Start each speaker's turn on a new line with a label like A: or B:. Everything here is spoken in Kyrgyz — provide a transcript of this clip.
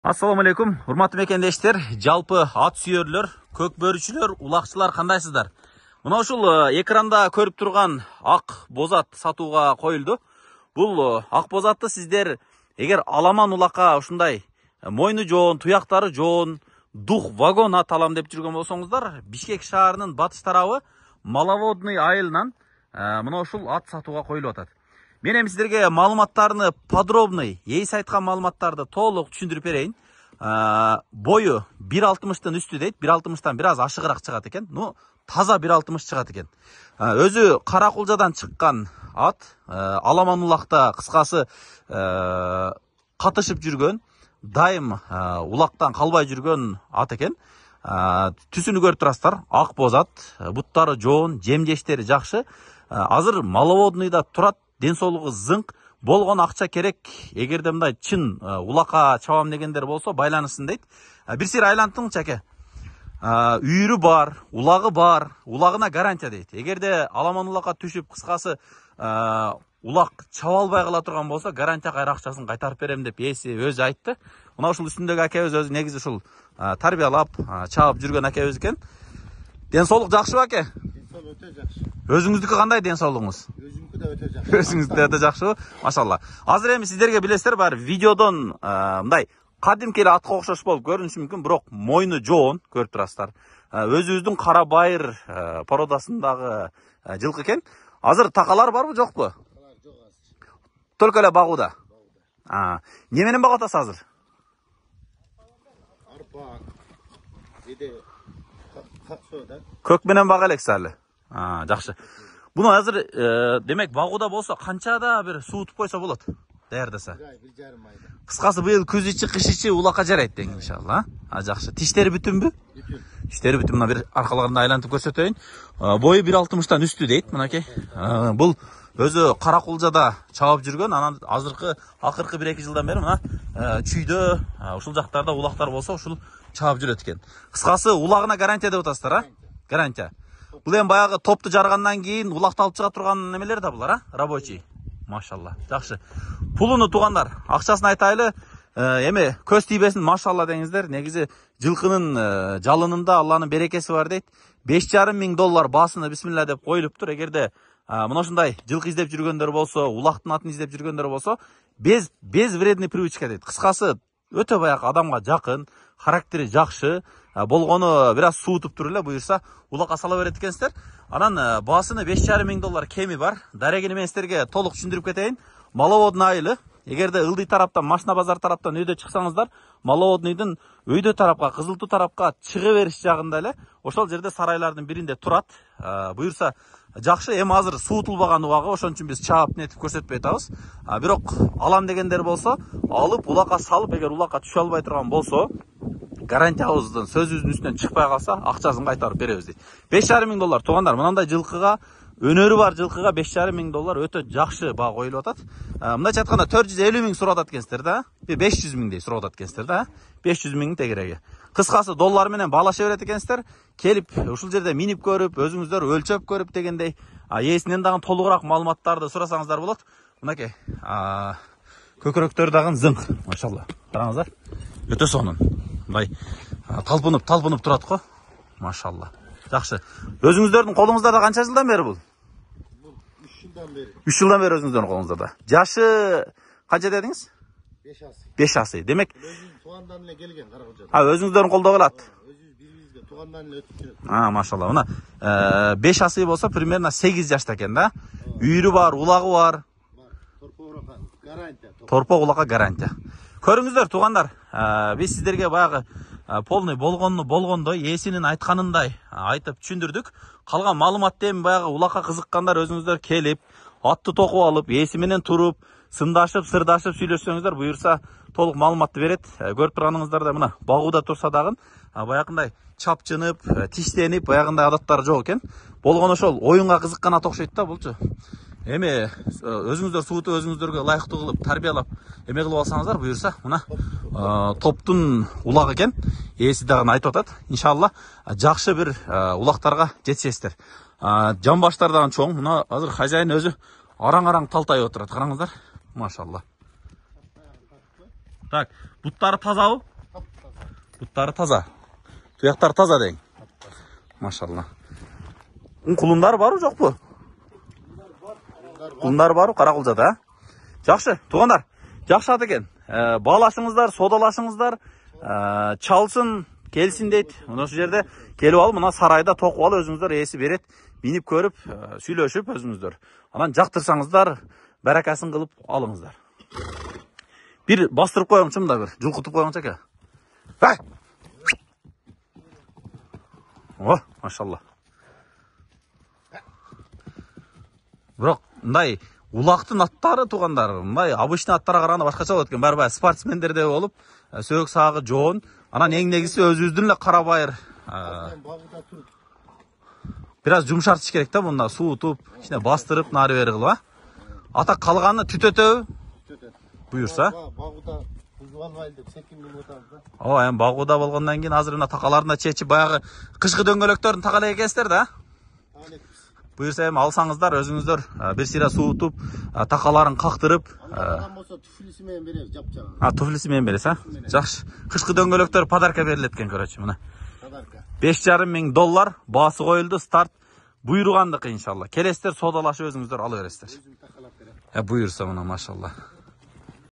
A: Assalamu alaikum, урматтуу мекендештер, жалпы ат сүйөрлөр, көк бөрүчүлөр, улакчылар кандайсыздар? Мына ушул экранда көрүп турган ак бозат сатууга коюлду. Бул ак бозатты сиздер эгер аламан улакка ушундай мойну жоон, туяктары жоон, дух вагон ат алам деп жүргөн болсоңуздар, Бишкек шаарынын батыш тарабы Маловодный айылынан мына ушул ат сатууга коюлуп атат. Мен эми сиздерге маалыматтарны подробный, эйс айткан маалыматтарды толук түшүндүрүп берейин. Бою 1.60-тын үстү дейт, 1.60-тан бир аз ашыгыраак чыгат экен. Таза 1.60 чыгат экен. Өзү Каракулжадан чыккан ат, аламан улакта кыскасы катышып жүргөн, дайым улактан калбай жүргөн ат экен. Түсүнү көрүп турасыздар, ак бозат, буттары жоон, жемжештери жакшы. Азыр Маловодныйда турат. Ден соолугу зыңк, болгон акча керек. Эгерде мындай чын улакка чабам дегендер болсо байланышсын дейт. Бир сир айлантыңчы аке. Үйүрү бар, улагы бар, улагына гарантия дейт. Эгерде аламан улакка түшүп кыскасы улак чаба албай кала турган болсо, гарантия кайра акчасын кайтарып берем деп ээси өзү айтты. Мына ушул үстүндөгү акебиз өзү негизи ушул тарбиялап, чабып жүргөн акебиз экен. Ден соолук жакшыбы аке?
B: Ден соолук өтө жакшы.
A: Өзүңүздүкү кандай ден соолугуңуз? Өзүңүздү да өтө жакшыбы? Машалла. Азыр эми сиздерге билесиздер бар видеодон мындай кадимки эле атка окшош болуп көрүнүшү мүмкүн, бирок мойну жоон көрүп турасыздар. Өзүбүздүн кара байыр породасындагы жылкы экен. Азыр такалар барбы, жокпу?
B: Такалар жок азыр.
A: Только эле багууда. Не менен багып атасыз азыр?
B: Арпа. Биде каксоо да.
A: Көк менен бага элексиз али. Жакшы. Буну азыр демек багууда болсо канчада бир суутуп койсо болот? Даярдаса.
B: 1,5 айда.
A: Кыскасы быйыл күз ичи, кыш ичи улакка жарайт дең иншалла. Жакшы. Тиштери бүтүнбү?
B: Бүтүн.
A: Тиштери бүтүн. Мына бир аркаларында айлантып көрсөтөйүн. Бою 1.60-тан үстү дейт, мынакей. Бул өзү Каракулжада чабып жүргөн, анан азыркы акыркы 1-2 жылдан бери мына чүйдө ушул жактарда улактар болсо ушул чабып жүрөт экен. Кыскасы улагына гарантия деп атасыздар, Гарантия. Бул эми баягы топту жаргандан кийин улакты алып чыга турган немелер да булар, Рабочий. Машалла. Жакшы. Пулуну тугандар, акчасын айтайлы. Эми көз тийбесин, машалла деңиздер. Негизи жылкынын жалынында Алланын берекеси бар дейт. $5,500 баасына бисмилла деп коюлуптур. Эгерде мына ушундай жылкы издеп жүргөндөр болсо, улактын атын издеп жүргөндөр болсо, без вредный привычка дейт. Кыскасы өтө баягы адамга жакын, характери жакшы, болгону бир аз суутуп туруп эле буюрса улакка сала берет экенсиздер. Анан баасыны $5,500 кеми бар. Дарегини мен сиздерге толук түшүндүрүп кетейин. Маловодный айылы. Эгерде Ылдый тараптан, Машина базар тараптан өйдө чыксаңыздар, Маловодныйдын өйдө тарапка, Кызылтуу тарапка чыга бериш жагында эле ошол жерде сарайлардын биринде турат. Буюрса жакшы. Эми азыр суутулбаган убагы, ошон үчүн биз чаап нетип көрсөтпөй атабыз. Бирок алам дегендер болсо, алып улакка салып, эгер улакка түшө албай турган болсо, гарантиябыздын сөзүбүздүн үстүнөн чыкпай калса, акчасын кайтарып беребиз дейт. $5,500 туугандар, мындай жылкыга, өнөрү бар жылкыга $5,500 өтө жакшы баа коюлуп атат. Мындайча айтканда 450 миң сурап атат экенсиздер да. 500 миңдей сурап атат экенсиздер да. 500 миңдин тегереги. Кыскасы доллар менен баалаша берет экенсиздер. Келип ушул жерде минип көрүп, өзүңүздөр өлчөп көрүп дегендей, ээсинен дагы толугураак маалыматтарды сурасаңыздар болот. Мынакей, көкөрөктөр дагы зыңк, машалла. Караңыздар. Өтө сонун. Мындай талпынып турат го. Машалла. Жакшы. Өзүңүздөрдүн колуңуздарда канча жылдан бери бул?
B: 3 жылдан бери.
A: 3 жылдан бери өзүңүздөрдүн колуңуздарда. Жашы канча дедиңиз?
B: 5 асы.
A: 5 асы. Демек,
B: Өзүнүн туугандан эле келген Каракулжадан.
A: өзүңүздөрдүн колдо калат.
B: Өзүбүз бирибизге туугандан эле өтүп жүрөт.
A: Машалла. Мына 5 асы болсо примерно 8 жашта экен да. Үйүрү бар, улагы бар.
B: Торпо улакка гарантия.
A: Торпо улакка гарантия. Көрүңүздөр туугандар, биз сиздерге баягы полный болгондой, ээсинин айтканындай айтып түшүндүрдүк. Калган маалыматты эми баягы улакка кызыккандар өзүңүздөр келип, атты токуп алып, ээси менен туруп, сындашып, сырдашып сүйлөшсөңүздөр, буюрса толук маалыматты берет. Көрүп турганыңыздарда мына багууда турса дагы баягындай чапчынып, тиштенип, баягындай адаттары жок экен. Болгону ошол оюнга кызыккан ат окшойт да булчу. Эми өзүңүздөр суутуп, өзүңүздөргө ылайыктуу кылып, тарбиялап, эме кылып алсаңыздар, буюрса мына топтун улагы экен. Ээси дагы айтып атат. Иншалла жакшы бир улактарга жетишесиздер. Жамбаштар дагы чоң. Мына азыр хозяин өзү араң-араң талтайып отурат. Караңыздар. Машалла. Так, буттары тазабы? аттары таза. Туяктар таза дең. Машалла. Кулундар барбы, жокпу? Кулундар барбы Каракулжада, а? Жакшы, туугандар. Жакшы ат экен. Баалашыңыздар, содалашыңыздар, чалсын, келсин дейт. Мына ушул жерде келип алып, мына сарайда токуп алып өзүңүздөр ээси берет. Минип көрүп, сүйлөшүп өзүңүздөр. Анан жактырсаңыздар, баракасын кылып алыңыздар. Bir bastırıp koyalım da bir. Julkutup koyalım çeke. Hey! Oh, maşallah. Bırak, mындай улактын аттары туугандар, мындай обычный аттарга караганда башкача болот экен. Барбай спортсмендер деп болуп, сөөк сагы жоон, анан эң негизги өзүбүздүн эле кара байыр. Biraz жумшартыш керек да, мында суутуп, ичине бастырып, нары бери кылып, а? Ата калганы түтөтөбү? Буюрса.
B: Багуда бузулбайт деп секин минут отабыз да.
A: Ооба, эми багуда болгондон кийин азыр мына такаларына чечип баягы кышкы дөңгөлөктөрүн такалай экенсиздер да? Буюрса эми алсаңыздар өзүңүздөр бир сыйра суутуп, такаларын кактырып,
B: андан болсо туфлиси менен беребиз, жапчагын.
A: Туфлиси менен бересиз, а? Жакшы. Кышкы дөңгөлөктөр подарка берилет экен, көрөчү мына.
B: Подарка.
A: $5,500 баасы коюлду, старт буйругандыкы иншалла. Келесиздер, содалашып өзүңүздөр ала бересиздер.
B: Өзүм такалап берем.
A: Буйурса мына машалла.